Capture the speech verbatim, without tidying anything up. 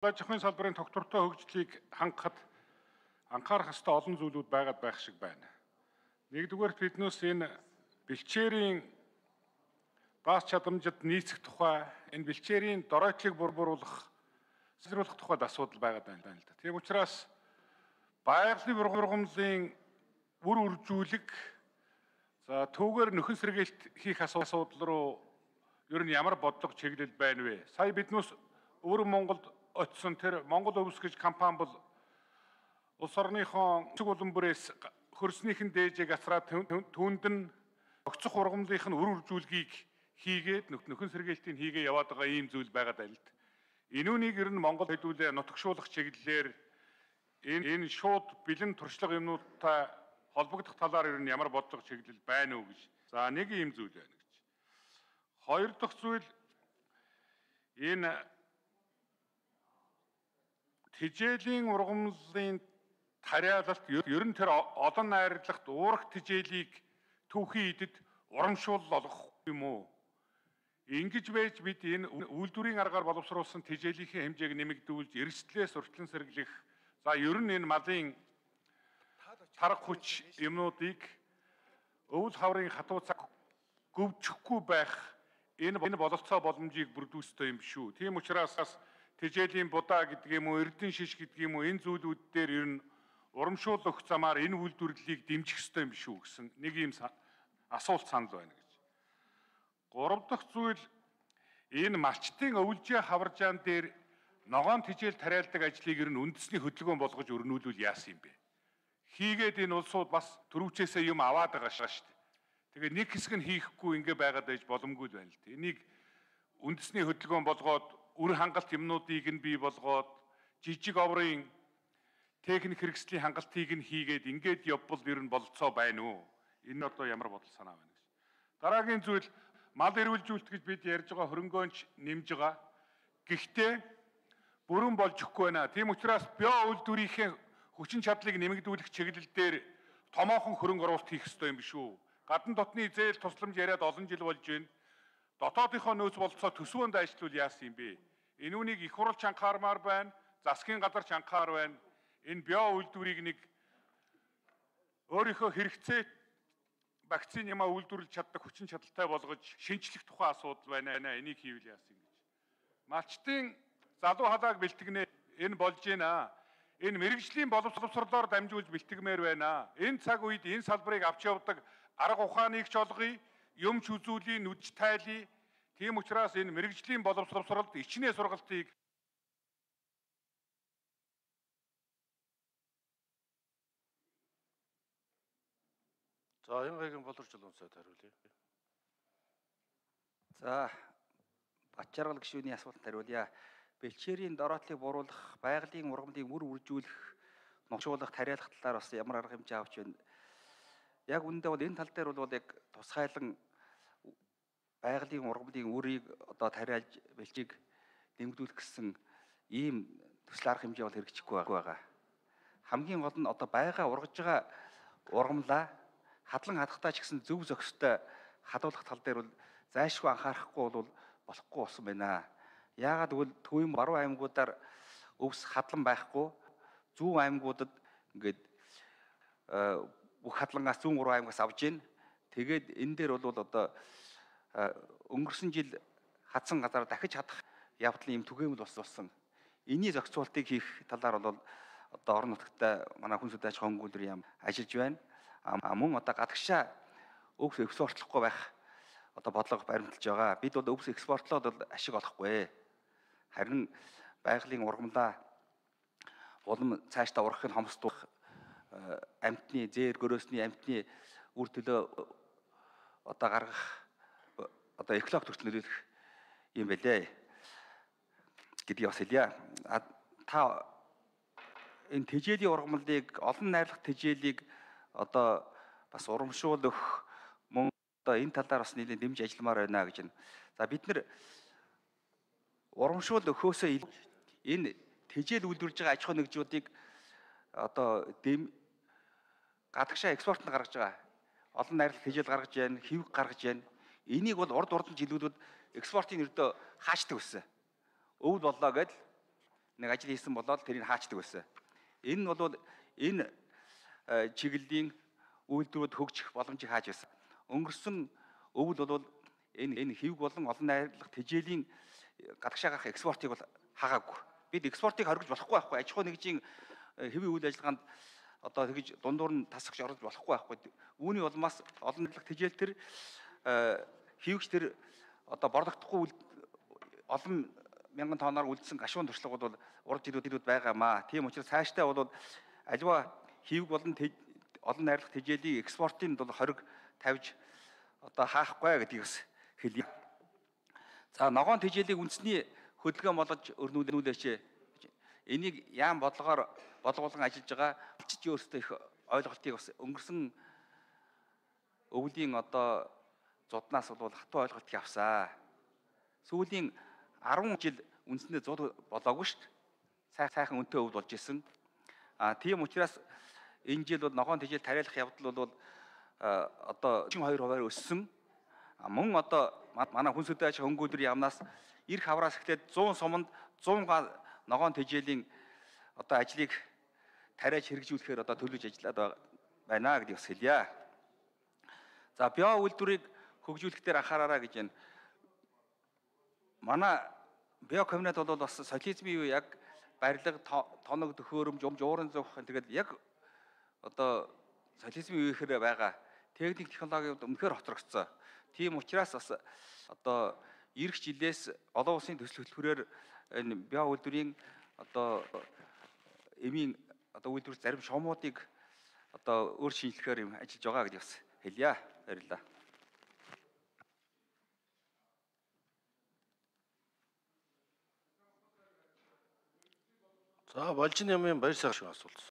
Аж ахуйн салбарын тогтвортой хөгжлийг хангахад анхаарах ёстой олон зүйлүүд байгаад байх шиг байна. Нэгдүгээрт биднээс энэ бэлчээрийн баас чадамжид нийцэх тухай, энэ бэлчээрийн доройтлыг бурууруулах, сайжруулах тухайд асуудал байгаад байна л да. Тийм учраас байгалийн бургамлын үр үржүүлэг, за түүгээр нөхөн сэргээлт хийх асуудал руу ер нь ямар бодлого чиглэл байна вэ? Сая биднээс өвөр Монголд очсон тэр Монгол өвс гэж компани бол улс орныхон цэг улам бүрээс хөрснийхэн дээжийг асраад түүнд нь огцох ургамлынх нь үр үржүүлгийг хийгээд нөхөн сэргээлтийг хийгээ яваад байгаа ийм зүйл байгаад байна л д. Энүүнийг ер нь Монгол хэдүүлээ нутагшуулах чиглэлээр энэ энэ шууд бэлэн туршлага юмнуудтай холбогдох талаар ер нь ямар бодлого чиглэл байна уу гэж. За нэг ийм зүйл байна гэж. Хоёр дахь зүйл энэ тижээлийн ургамлын тариалалт ер нь тэр олон найрлагт уурах тижээлийг түүхийн идэд урамшуул олгох юм уу? Ингэж байж бид энэ үйлдвэрийн аргаар боловсруулсан тижээлийнхээ хэмжээг нэмэгдүүлж эрсдлээс урьдчилан сэргийлэх, за ер нь энэ малын тарга хүч юмнуудыг өвөл хаврын хатуу цаг гөвчихгүй байх энэ энэ бололцоо боломжийг бүрдүүлэх ёстой юм шүү. Тийм учраас тижээлийн будаа гэдэг юм уу, эрдэнэ шиш гэдэг юм уу, энэ зүйлүүд дээр ер нь урамшуул өгөх замаар энэ үйлдвэрлэлийг дэмжих ёстой юм шүү гэсэн нэг ийм асуулт санал байна гэж. Гурав дахь зүйл энэ малчтын өвөлжийн хаваржаан дээр ногоон тижээл тариалдаг ажлыг ер нь үндэсний хөдөлгөөн болгож өрнүүлвэл яасан юм бэ? Хийгээд энэ улсууд бас төрөвчээсээ юм аваад байгаа шүү дээ. Тэгээ нэг хэсэг нь хийхгүй ингэ байгаад байж боломгүй байна л дээ. Энийг үндэсний хөдөлгөөн болгоод үр хангалт юмнуудыг нь бий болгоод жижиг оврын техник хэрэгслийн хангалтыг нь хийгээд ингээд явбал ер нь болцоо байна уу? Энэ одоо ямар бодол санаа байна гэж. Дараагийн зүйл мал эрүүлжүүлэлт гэж бид ярьж байгаа хөрөнгөөнч нэмж байгаа. Гэхдээ бүрэн болж өгөхгүй байна. Тийм учраас био үйлдвэрийнхээ хүчин чадлыг нэмэгдүүлэх чиглэл дээр томоохон хөрөнгө оруулалт хийх ёстой юм биш үү? Гадна дотны зээл тусламж яриад олон жил болж байна. Дотоодынхоо нөөц бололцоо төсвөөнд ажиллавал яасан юм бэ? Энүүнийг их хурлч анхаармаар байна. Засгийн газарч анхаар байна. Энэ био үйлдвэрийг нэг өөрийнхөө хэрэгцээ вакцин ямаа үйлдвэрлэж чаддаг хүчин чадалтай болгож шинжлэх тухай асуудал байна. Энийг хийвэл яасан гэж. Малчтын залуу халааг бэлтгэнэ. Энэ болж байна. Энэ мэрэгжлийн боловсруулалтаар дамжуулж бэлтгэмээр байна. Энэ цаг үед энэ салбарыг авч явдаг арга ухааныг ч олгоё, юмч үзүүлээ, нүдж тайлъя. Тийм учраас энэ мэрэгжлийн боловсруулалт ичнээ сургалтыг За Янгагийн боловч улаансайд хариулъя. За Бачаргал гишүүний асуултанд хариулъя. Бэлчээрийн дороотлыг буруулах, байгалийн ургамлыг үр үржүүлэх, ногшуулах, тариалах талаар бас ямар арга хэмжээ авч байна. Яг үүндээ бол энэ тал дээр бол яг тусгайлан байгалийн ургамлын үрийг одоо тариалж бэлчийг нэмэгдүүлэх гэсэн ийм төсөл арга хэмжээ бол хэрэгжихгүй байгаа. Хамгийн гол нь одоо байга ургаж байгаа ургамлаа хадлан хадахтаа ч гэсэн зөв зохистой хадуулах тал дээр бол зайлшгүй анхаарахгүй бол болохгүй болсон байна. Яагаад гэвэл төвийн баруун аймагуудаар өвс хадлан байхгүй, зүүн аймагуудад ингээд бүх хадлангаас зүүн гурван аймагаас авж ийн. Тэгээд энэ дээр бол одоо өнгөрсөн жил хадсан газар дахиж хадах явдлын юм түгээмэл болсон. Эний зохицуултыг хийх талаар бол одоо орон нутагтай манай хүн судалж хөнгөлөр юм ажиллаж байна. А мөн одоо гадагшаа өвс экспортлохгүй байх одоо бодлого баримталж байгаа. Бид бол өвс экспортлоод бол ашиг олохгүй. Харин байгалийн ургамлаа улам цаашдаа ургахын хомсдох амьтны зээр гөрөөсний амьтны үр төлөө одоо гаргах одоо экологи төрөлд нөлөөлөх юм байлээ гэдгийг бас хэлье. Та энэ тижээлийн ургамлыг олон найрлах тижээлийг одоо бас урамшуул өгөх мөн одоо энэ талаар бас нэлээд дэмж ажилламаар байна гэж байна. За бид нэр урамшуул өгөхөөсөө энэ тижээл үйлдвэрлэж байгаа аж ахуй нэгжүүдийг одоо дэм гадагшаа экспортод гаргаж байгаа. Олон найрлах тижээл гаргаж байна, хэвэг гаргаж байна. Энийг бол урд урд жилүүдүүд экспортын өрдөө хаачдаг байсан. Өвөл боллоо гэдэл нэг ажил хийсэн болоод тэрийг хаачдаг байсан. Энэ нь бол энэ чиглэлийн үйлдвэрүүд хөгжих боломжийг хааж байсан. Өнгөрсөн өвөл бол энэ энэ хэвг болон олон найрлах тэжээлийн гадагшаа гарах экспортыг бол хаагаагүй. Бид экспортыг хоригж болохгүй байхгүй. Аж ахуй нэгжийн хэвийн үйл ажиллагаанд одоо тэгж дундуур нь тасагч орж болохгүй байхгүй. Үүний улмаас олон найрлах тэжээл төр хэвгч төр одоо борлогдохгүй олон мянган тонноор үлдсэн гашуун туршлага бол урд ирүүд байгаамаа. Тийм учраас цаашдаа бол аливаа хэвг болон олон найрлах тэжээлийн экспортын бол хориг тавьж одоо хаахгүй гэдгийг бас хэлье. За ногоон тэжээлийг үндэсний хөдөлгөөн болгож өрнүүлээч. Энийг яам бодлогоор болгоулан ажиллаж байгаа алчиж өөрсдөө их ойлголтыг бас өнгөрсөн өвлийн одоо зуднаас бол хатуу ойлголтыг авсаа. Сүүлийн арван жил үндсэндээ зуд болоогүй шүү дээ. Сайхан үнэтэй өвөл болж исэн. А тийм учраас энэ жил бол ногоон тэжээл тариалах явдал бол одоо хоёр хувиар өссөн. Мөн одоо манай хүн сүдэ аж хөнгөлдрийн яамнаас эрх хавраас эхлээд зуун суманд зуун га ногоон тэжээлийн одоо ажлыг тариаж хэрэгжүүлэхээр одоо төлөвлөж ажиллаад байна гэдгийг бас хэлье. За био үйлдвэрийг хөгжүүлэх дээр анхаараарай гэж байна. Манай био комбинат бол бас социализмын үе яг барилга, тоног, төхөөрөмж, уурын зовх тэгээд яг одоо социализмын үехээр байгаа техник технологиуд өмнөхөр хоцрогдсон. Тийм учраас бас одоо эх жилээс олон улсын төсөл хөтөлбөрөөр энэ био үйлдвэрийн одоо эмийн одоо үйлдвэр зарим шуумуудыг одоо өөр шинжилгээр юм ажиллаж байгаа гэж бас хэлье. Баярлалаа. За, Балжин ямын баяр сайхан асуулт.